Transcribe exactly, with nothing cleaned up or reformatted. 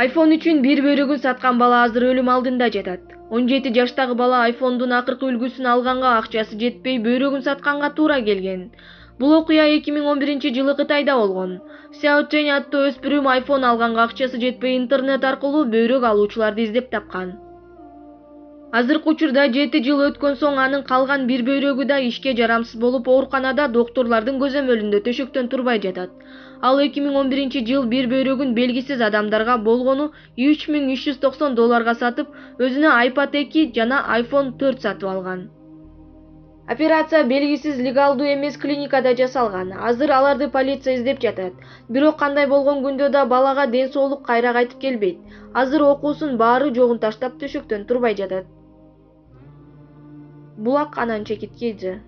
iPhone үчүн бир бөйрөгүн саткан бала азыр өлүм алдында жатат. он жети жаштагы бала iPhone'дун акыркы үлгүсүн алганга акчасы жетпей бөйрөгүн сатканга туура келген. Бул окуя эки миң он биринчи жылы Кытайда болгон. Сяо Чэнь аттуу өспүрүм iPhone алганга акчасы жетпей интернет аркылуу бөйрөк алуучуларды издеп тапкан. Азыркы учурда жети жыл өткөн соң анын калган бир бөйрөгү да ишке жарамсыз болуп ооруканада доктурлардын көзөмөлүндө төшөктөн турбай жатат. Ал эки миң он биринчи жыл бир бөйрөгүн белгисиз адамдарга болгону үч миң үч жүз токсон долларга сатып, өзүнө iPad эки жана iPhone төрт сатып алган. Операция белгисиз легалдуу эмес клиникада жасалган. Азыр аларды полиция издеп жатат. Бирок кандай болгон күндө да балага ден соолук кайра кайтып келбейт. Азыр окуусун баары жогун таштап төшөктөн турбай жатат. Булак анан чекит Кз.